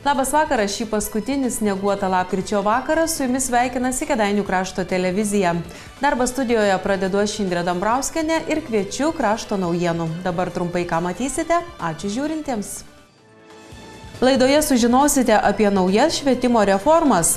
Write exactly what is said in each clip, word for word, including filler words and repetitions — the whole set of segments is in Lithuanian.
Labas vakaras, šį paskutinį snieguotą lapkričio vakarą su jumis sveikinasi Kėdainių krašto televizija. Darbą studijoje pradedu aš Indrė Dambrauskienė ir kviečiu krašto naujienų. Dabar trumpai ką matysite, ačiū žiūrintiems. Laidoje sužinosite apie naujas švietimo reformas.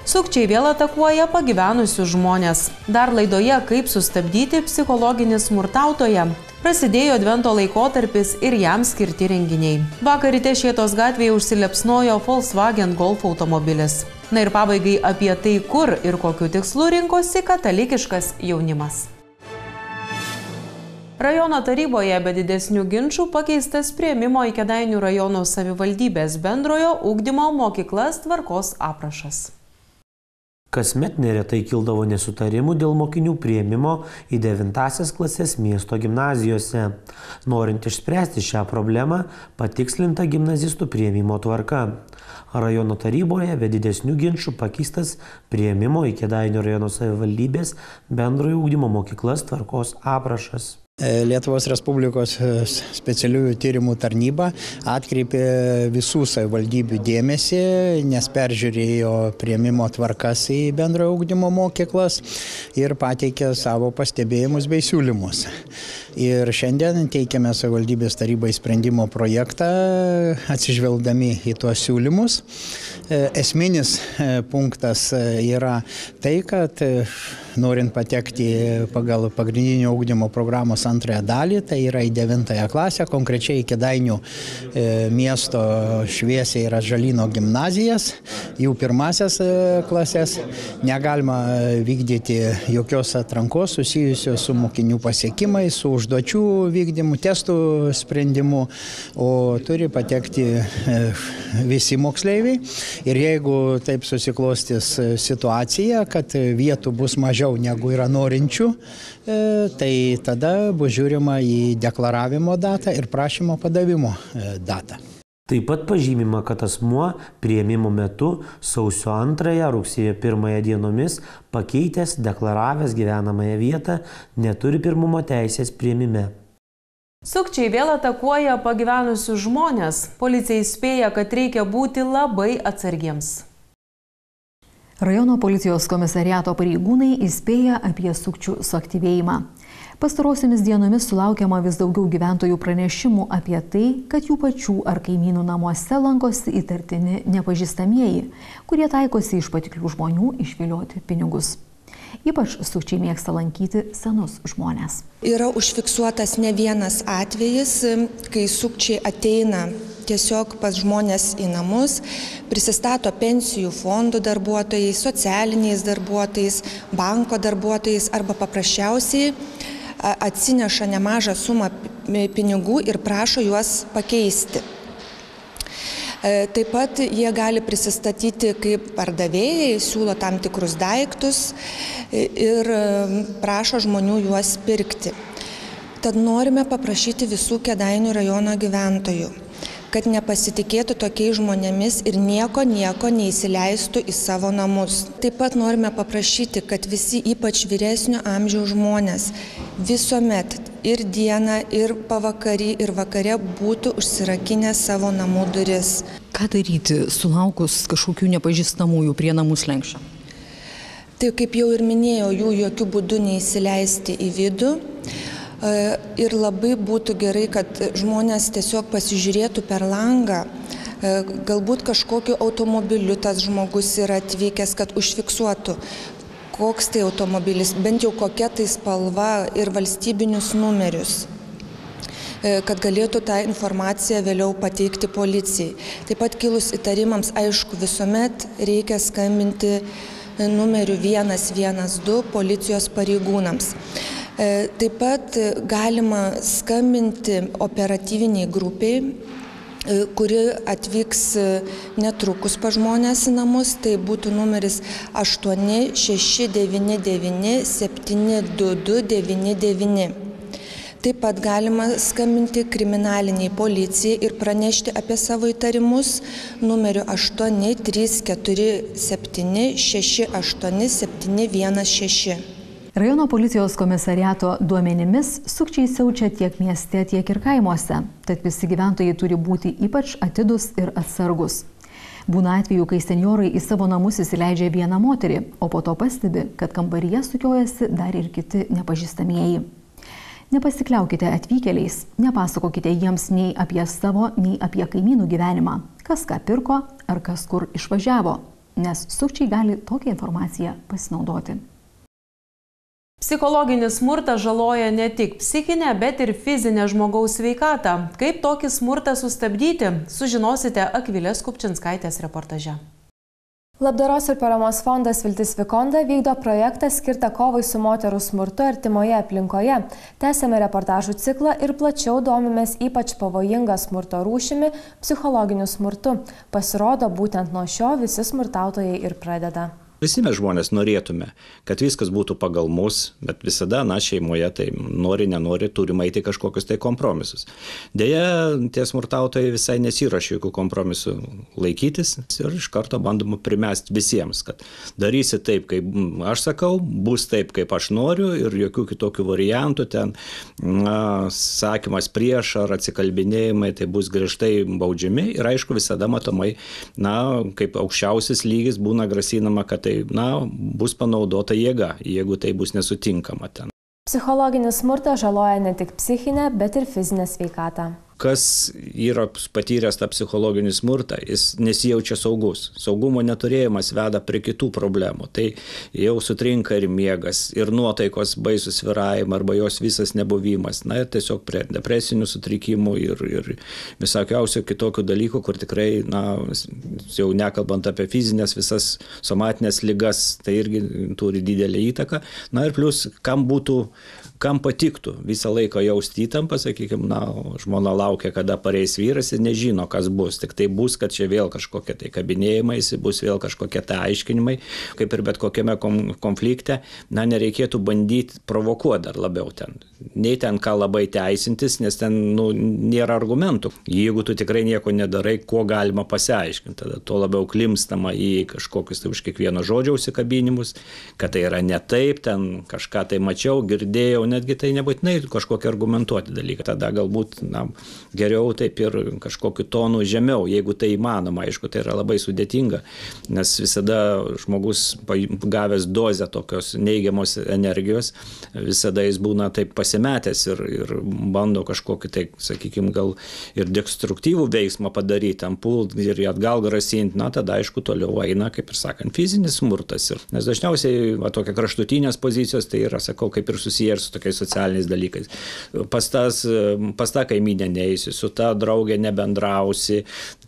Sukčiai vėl atakuoja pagyvenusius žmonės. Dar laidoje, kaip sustabdyti psichologinį smurtautoją. Prasidėjo advento laikotarpis ir jam skirti renginiai. Vakar ryte Šėtos gatvėje užsilepsnojo Volkswagen Golf automobilis. Na ir pabaigai apie tai, kur ir kokiu tikslu rinkosi katalikiškas jaunimas. Rajono taryboje be didesnių ginčų pakeistas priėmimo į Kėdainių rajono savivaldybės bendrojo ugdymo mokyklas tvarkos aprašas. Kasmet neretai kildavo nesutarimų dėl mokinių priėmimo į devintąsias klases miesto gimnazijose. Norint išspręsti šią problemą, patikslinta gimnazistų priėmimo tvarka. Rajono taryboje be didesnių ginčų pakeistas priėmimo į Kėdainių rajono savivaldybės bendrojo ugdymo mokyklas tvarkos aprašas. Lietuvos Respublikos specialiųjų tyrimų tarnyba atkreipė visų savivaldybių dėmesį, nes peržiūrėjo priėmimo tvarkas į bendrojo ugdymo mokyklas ir pateikė savo pastebėjimus bei siūlymus. Ir šiandien teikiame savivaldybės tarybai sprendimo projektą, atsižvelgdami į tuos siūlymus. Esminis punktas yra tai, kad norint patekti pagal pagrindinio ugdymo programos antrąją dalį, tai yra į devintąją klasę, konkrečiai į Kėdainių miesto Šviesiai ir Atžalyno gimnazijas, jų pirmasias klases, negalima vykdyti jokios atrankos susijusios su mokinių pasiekimais, su užduočių vykdymu, testų sprendimu, o turi patekti visi moksleiviai. Ir jeigu taip susiklostys situacija, kad vietų bus mažiau negu yra norinčių, tai tada bus žiūrima į deklaravimo datą ir prašymo padavimo datą. Taip pat pažymima, kad asmuo priėmimo metu sausio antrąją, rugsėjo pirmąją dienomis pakeitęs, deklaravęs gyvenamąją vietą, neturi pirmumo teisės priėmime. Sukčiai vėl atakuoja pagyvenusius žmonės. Policija įspėja, kad reikia būti labai atsargiems. Rajono policijos komisariato pareigūnai įspėja apie sukčių suaktyvėjimą. Pastarosiomis dienomis sulaukiama vis daugiau gyventojų pranešimų apie tai, kad jų pačių ar kaimynų namuose lankosi įtartini nepažįstamieji, kurie taikosi iš patiklių žmonių išvilioti pinigus. Ypač sukčiai mėgsta lankyti senus žmonės. Yra užfiksuotas ne vienas atvejis, kai sukčiai ateina tiesiog pas žmonės į namus, prisistato pensijų fondų darbuotojais, socialiniais darbuotojais, banko darbuotojais arba paprasčiausiai atsineša nemažą sumą pinigų ir prašo juos pakeisti. Taip pat jie gali prisistatyti kaip pardavėjai, siūlo tam tikrus daiktus ir prašo žmonių juos pirkti. Tad norime paprašyti visų Kėdainių rajono gyventojų, kad nepasitikėtų tokiais žmonėmis ir nieko nieko neįsileistų į savo namus. Taip pat norime paprašyti, kad visi, ypač vyresnio amžiaus žmonės, visuomet ir dieną, ir pavakarį, ir vakare būtų užsirakinę savo namų duris. Ką daryti, sulaukus kažkokių nepažįstamųjų prie namų slenksčio? Tai kaip jau ir minėjau, jų jokių būdų neįsileisti į vidų. Ir labai būtų gerai, kad žmonės tiesiog pasižiūrėtų per langą, galbūt kažkokiu automobiliu tas žmogus yra atvykęs, kad užfiksuotų, koks tai automobilis, bent jau kokia tai spalva ir valstybinius numerius, kad galėtų tą informaciją vėliau pateikti policijai. Taip pat kilus įtarimams, aišku, visuomet reikia skambinti numeriu vienas vienas du policijos pareigūnams. Taip pat galima skambinti operatyviniai grupiai, kuri atvyks netrukus pas žmonės į namus, tai būtų numeris aštuoni šeši devyni devyni septyni du du devyni devyni. Taip pat galima skambinti kriminaliniai policijai ir pranešti apie savo įtarimus numeriu aštuoni trys keturi septyni šeši aštuoni septyni vienas šeši. Rajono policijos komisariato duomenimis sukčiai siaučia tiek mieste, tiek ir kaimuose, tad visi gyventojai turi būti ypač atidūs ir atsargus. Būna atveju, kai senjorai į savo namus įsileidžia vieną moterį, o po to pastebi, kad kambaryje sukiojasi dar ir kiti nepažįstamieji. Nepasikliaukite atvykėliais, nepasakokite jiems nei apie savo, nei apie kaimynų gyvenimą, kas ką pirko ar kas kur išvažiavo, nes sukčiai gali tokią informaciją pasinaudoti. Psichologinis smurtas žaloja ne tik psichinę, bet ir fizinę žmogaus sveikatą. Kaip tokį smurtą sustabdyti, sužinosite Akvilės Kupčinskaitės reportaže. Labdaros ir paramos fondas Viltis Vikonda vykdo projektą skirtą kovai su moterų smurtu artimoje aplinkoje. Tęsiame reportažų ciklą ir plačiau domimės ypač pavojingą smurto rūšimi – psichologiniu smurtu. Pasirodo, būtent nuo šio visi smurtautojai ir pradeda. Visi mes žmonės norėtume, kad viskas būtų pagal mus, bet visada, na, šeimoje tai nori, nenori, turime eiti kažkokius tai kompromisus. Deja, tie smurtautojai visai nesiruošia jokių kompromisų laikytis ir iš karto bandoma primesti visiems, kad darysi taip, kaip aš sakau, bus taip, kaip aš noriu ir jokių kitokių variantų ten, na, sakymas prieš ar atsikalbinėjimai, tai bus griežtai baudžiami ir aišku visada matomai, na, kaip aukščiausias lygis būna grasinama, kad tai, na, bus panaudota jėga, jeigu tai bus nesutinkama ten. Psichologinis smurtas žaloja ne tik psichinę, bet ir fizinę sveikatą. Kas yra patyręs tą psichologinį smurtą, jis nesijaučia saugus. Saugumo neturėjimas veda prie kitų problemų. Tai jau sutrinka ir miegas, ir nuotaikos baisų svyravimą, arba jos visas nebuvimas. Na ir tiesiog prie depresinių sutrikimų ir, ir visokiausių kitokių dalykų, kur tikrai, na, jau nekalbant apie fizinės visas somatinės ligas, tai irgi turi didelį įtaką. Na ir plus, kam būtų, kam patiktų visą laiką jausti įtampą, sakykime, na, žmona laukia, kada pareis vyras ir nežino, kas bus. Tik tai bus, kad čia vėl kažkokie tai kabinėjimaisi, bus vėl kažkokie tai aiškinimai, kaip ir bet kokiame konflikte, na, nereikėtų bandyti provokuoti dar labiau ten. Nei ten ką labai teisintis, nes ten, nu, nėra argumentų. Jeigu tu tikrai nieko nedarai, kuo galima pasiaiškinti, tada tuo labiau klimstama į kažkokius tai už kiekvieno žodžio užsikabinimus, kad tai yra ne taip, ten kažką tai mačiau, girdėjau, netgi tai nebūtinai kažkokie argumentuoti dalykai. Tada galbūt, na, geriau taip ir kažkokiu tonu žemiau, jeigu tai įmanoma, aišku, tai yra labai sudėtinga, nes visada žmogus gavęs dozę tokios neigiamos energijos, visada jis būna taip pasimetęs ir, ir bando kažkokį tai, sakykime, gal ir destruktyvų veiksmą padaryti, tam pult ir atgal grasinti, na, tada aišku toliau eina, kaip ir sakant, fizinis smurtas. Ir, nes dažniausiai va, tokia kraštutinės pozicijos, tai yra, sakau, kaip ir susiję ir su tokiais socialiniais dalykais. Pas, tas, pas tą kaiminę neįsi, su ta draugė nebendrausi,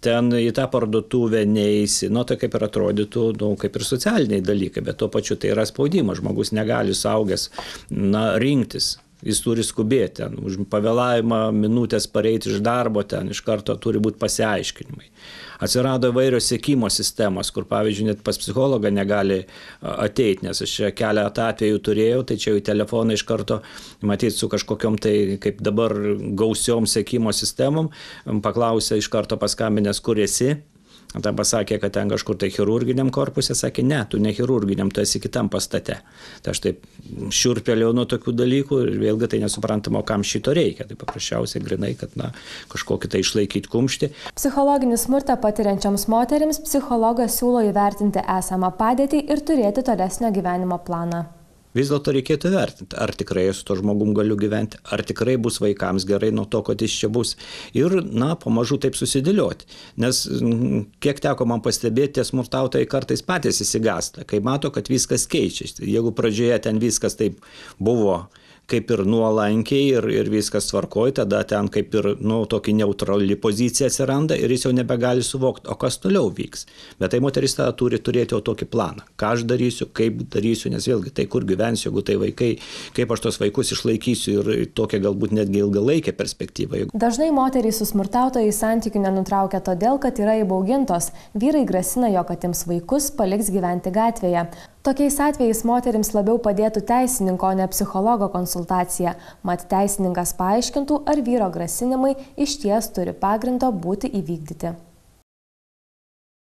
ten į tą parduotuvę neįsi, nu, tai kaip ir atrodytų, nu, kaip ir socialiniai dalykai, bet tuo pačiu tai yra spaudimas, žmogus negali suaugęs, na, rinktis. Jis turi skubėti, ten, už pavėlavimą minutės pareiti iš darbo, ten iš karto turi būti pasiaiškinimai. Atsirado įvairios sekimo sistemos, kur, pavyzdžiui, net pas psichologą negali ateiti, nes aš čia keletą atvejų turėjau, tai čia į telefoną iš karto, matyti, su kažkokiom tai, kaip dabar, gausiom sekimo sistemom, paklausė iš karto paskambinęs, kur esi. Tada pasakė, kad ten kažkur tai chirurginiam korpuse, sakė, ne, tu ne chirurginiam, tu esi kitam pastate. Tai aš taip šiurpelėjau nuo tokių dalykų ir vėlgi tai nesuprantama, kam šito reikia. Tai paprasčiausiai grinai, kad, na, kažkokį tai išlaikyti kumštį. Psichologinį smurtą patiriančioms moterims psichologas siūlo įvertinti esamą padėtį ir turėti tolesnio gyvenimo planą. Vis dėlto reikėtų vertinti, ar tikrai su to žmogum galiu gyventi, ar tikrai bus vaikams gerai nuo to, kad jis čia bus. Ir, na, pamažu taip susidėlioti. Nes kiek teko man pastebėti, tie smurtautojai kartais patys įsigąsta, kai mato, kad viskas keičiasi. Jeigu pradžioje ten viskas taip buvo kaip ir nuolankiai ir, ir viskas tvarkoj, tada ten kaip ir, nu, tokia neutrali pozicija atsiranda ir jis jau nebegali suvokti, o kas toliau vyks. Bet tai moteris tada turi turėti jau tokį planą, ką aš darysiu, kaip darysiu, nes vėlgi tai kur gyvensiu, jeigu tai vaikai, kaip aš tos vaikus išlaikysiu ir tokia galbūt netgi ilgalaikė perspektyva. Dažnai moterys su smurtautojai santykių nenutraukia todėl, kad yra įbaugintos. Vyrai grasina, jog atims vaikus, paliks gyventi gatvėje. Tokiais atvejais moterims labiau padėtų teisininko, o ne psichologo konsultacija. Mat teisininkas paaiškintų, ar vyro grasinimai išties turi pagrindo būti įvykdyti.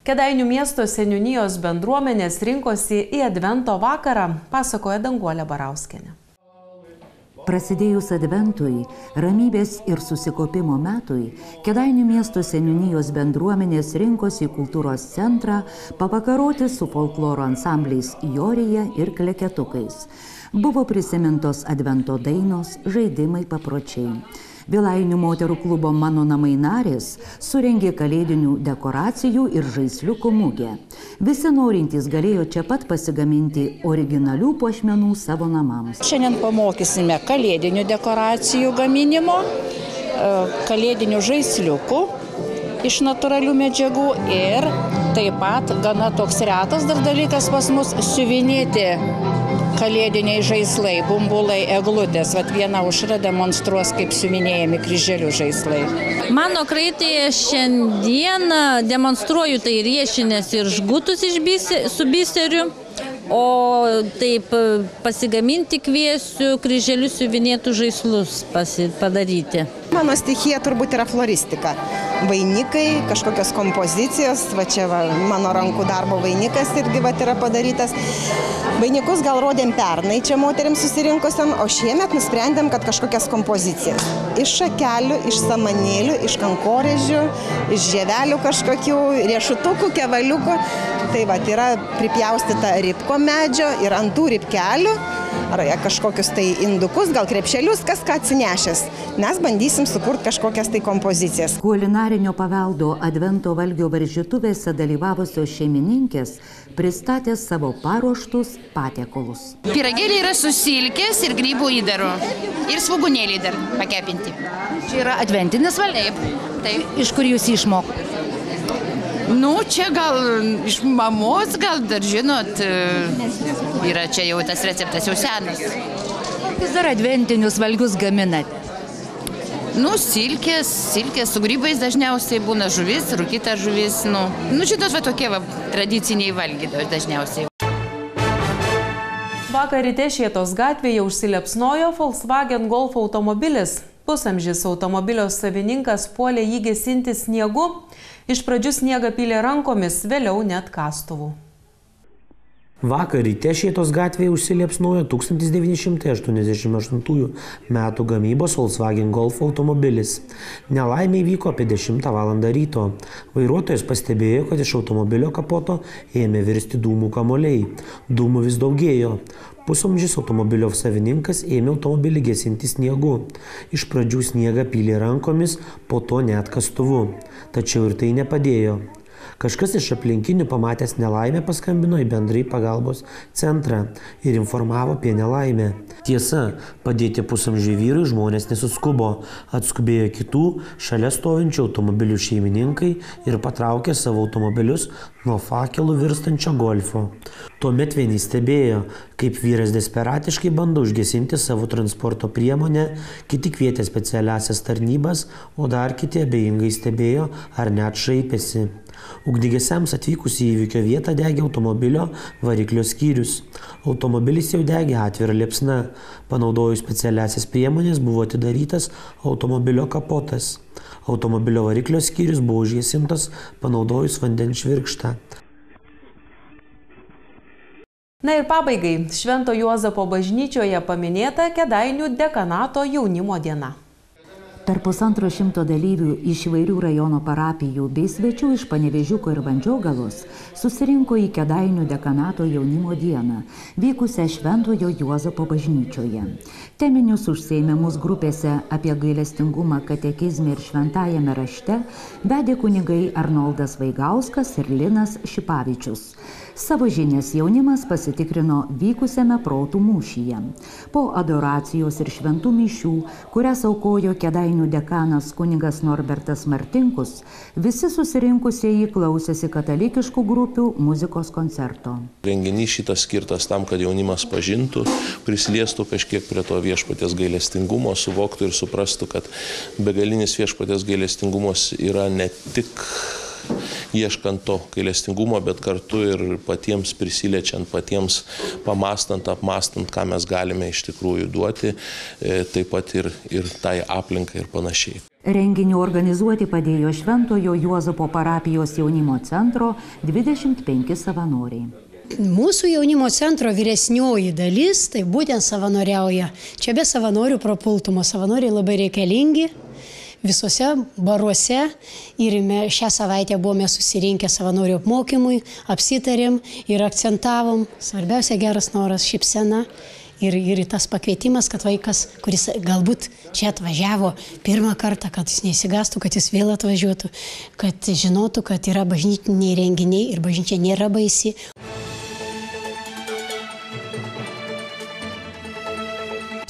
Kėdainių miesto seniūnijos bendruomenės rinkosi į Advento vakarą, pasakoja Danguolė Barauskienė. Prasidėjus adventui, ramybės ir susikopimo metui, Kėdainių miesto seniūnijos bendruomenės rinkosi į kultūros centrą pavakaroti su folkloro ansambliais Jorija ir Kleketukais. Buvo prisimintos advento dainos, žaidimai, papročiai. Vilainių moterų klubo Mano namai narės surengė kalėdinių dekoracijų ir žaisliukų mugę. Visi norintys galėjo čia pat pasigaminti originalių puošmenų savo namams. Šiandien pamokysime kalėdinių dekoracijų gaminimo, kalėdinių žaisliukų iš natūralių medžiagų ir taip pat gana toks retas dar dalykas pas mus siuvinėti kalėdiniai žaislai, bumbulai, eglutės. Vat viena Aušra demonstruos, kaip siuvinėjami kryželių žaislai. Mano kraitėje šiandien demonstruoju tai riešinės ir žgutus iš bise, su biseriu, o taip pasigaminti kviesiu kryželius siuvinėtų žaislus pasi, padaryti. Mano stichija turbūt yra floristika. Vainikai, kažkokios kompozicijos, va čia va, mano rankų darbo vainikas irgi va yra padarytas. Vainikus gal rodėm pernai čia moteriams susirinkusiam, o šiemet nusprendėm, kad kažkokias kompozicijas. Iš šakelių, iš samanėlių, iš kankorėžių, iš žievelių kažkokių, riešutukų, kevaliukų. Tai va, yra pripjaustyta ribko medžio ir ant tų ribkelių, ar kažkokius tai indukus, gal krepšelius, kas ką atsinešęs. Mes bandysim sukurti kažkokias tai kompozicijas. Kulinarinio paveldo advento valgio varžytuvėse dalyvavusios šeimininkės pristatė savo paruoštus patiekalus. Pyragėliai yra su silkės ir grybų įdaru. Ir svogūnėliai dar pakepinti. Čia yra adventinis valgymas. Taip. Taip. Iš kur jūs išmokot? Nu, čia gal iš mamos, gal dar žinot, yra čia jau tas receptas jau senas. Kokius dar adventinius valgius gaminat? Nu, silkės, silkės su grybais dažniausiai būna žuvis, rūkyta žuvis, nu, nu šitos va tokie va tradiciniai valgiai dažniausiai. Vakar ryte Šėtos gatvėje užsilepsnojo Volkswagen Golf automobilis. Pusamžis automobilio savininkas puolė jį gesinti sniegu. Iš pradžių sniegą pylė rankomis, vėliau net kastuvu. Vakar ryte Šėtos gatvėje užsiliepsnojo tūkstantis devyni šimtai aštuoniasdešimt aštuntųjų metų gamybos Volkswagen Golf automobilis. Nelaimė įvyko apie dešimtą valandą ryto. Vairuotojas pastebėjo, kad iš automobilio kapoto ėmė virsti dūmų kamuoliai. Dūmų vis daugėjo. Pusamžis automobilio savininkas ėmė automobilį gesinti sniegu. Iš pradžių sniegą pylė rankomis, po to net kastuvu. Tačiau ir tai nepadėjo. Kažkas iš aplinkinių pamatęs nelaimę paskambino į bendrąjį pagalbos centrą ir informavo apie nelaimę. Tiesa, padėti pusamžiui vyrui žmonės nesuskubo. Atskubėjo kitų šalia stovinčių automobilių šeimininkai ir patraukė savo automobilius nuo fakelų virstančio golfo. Tuomet vieni stebėjo, kaip vyras desperatiškai bando užgesinti savo transporto priemonę, kiti kvietė specialiasias tarnybas, o dar kiti abejingai stebėjo ar net šaipėsi. Ugniagesiams atvykus į įvykio vietą degė automobilio variklio skyrius. Automobilis jau degė atvira liepsna. Panaudojus specialiasias priemonės buvo atidarytas automobilio kapotas. Automobilio variklio skyrius buvo užgesintas panaudojus vandens švirkštą. Na ir pabaigai, Švento Juozapo bažnyčioje paminėta Kėdainių dekanato jaunimo diena. Per pusantro šimto dalyvių iš įvairių rajono parapijų bei svečių iš Panevėžiuko ir Vandžiogalos susirinko į Kėdainių dekanato jaunimo dieną, vykusią Šventojo Juozapo bažnyčioje. Teminius užsiėmimus grupėse apie gailestingumą katekizme ir šventajame rašte vedė kunigai Arnoldas Vaigauskas ir Linas Šipavičius. Savo žinias jaunimas pasitikrino vykusiame protų mūšyje. Po adoracijos ir šventų mišių, kurias aukojo Kėdainių dekanas kunigas Norbertas Martinkus, visi susirinkusieji klausėsi katalikiškų grupių muzikos koncerto. Renginys šitas skirtas tam, kad jaunimas pažintų, prisiliestų kažkiek prie to viešpaties gailestingumo, suvoktų ir suprastų, kad begalinis viešpaties gailestingumas yra ne tik ieškant to gailestingumo, bet kartu ir patiems prisiliečiant, patiems pamastant, apmastant, ką mes galime iš tikrųjų duoti, taip pat ir, ir tai aplinkai ir panašiai. Renginį organizuoti padėjo Šventojo Juozapo parapijos jaunimo centro dvidešimt penki savanoriai. mūsų jaunimo centro vyresnioji dalis, tai būtent savanoriauja. Čia be savanorių propultumo. Savanoriai labai reikalingi visose baruose ir šią savaitę buvome susirinkę savanorių apmokymui, apsitarėm ir akcentavom. Svarbiausia geras noras, šypsena. Ir, ir tas pakvietimas, kad vaikas, kuris galbūt čia atvažiavo pirmą kartą, kad jis neįsigastų, kad jis vėl atvažiuotų, kad žinotų, kad yra bažnytiniai renginiai ir bažnyčia nėra baisi.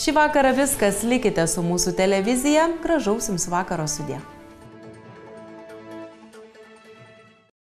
Šį vakarą viskas, likite su mūsų televizija, gražaus jums vakaro sudie.